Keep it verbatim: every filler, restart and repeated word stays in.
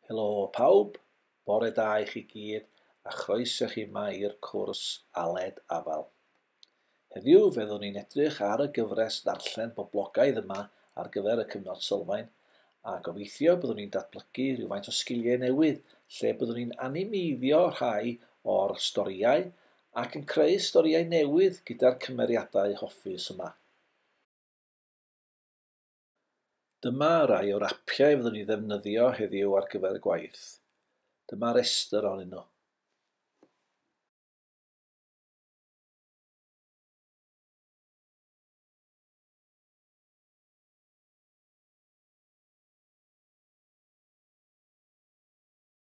Helo pawb, bore da i chi gyd a chroeso chi yma i'r cwrs Aled Afal. Heddiw fe fyddwn ni'n edrych ar y gyfres ddarllen boblogaidd yma ar gyfer y cyfnod sylfaen a gobeithio byddwn ni'n datblygu rhywfaint o sgiliau newydd lle byddwn ni'n animeiddio rhai o'r storïau ac yn creu storïau newydd gyda'r cymeriadau hoffus yma. Dyma rai o'r apiau fyddwn ni ddefnyddio heddiw ar gyfer y gwaith. Dyma restr ohonyn nhw.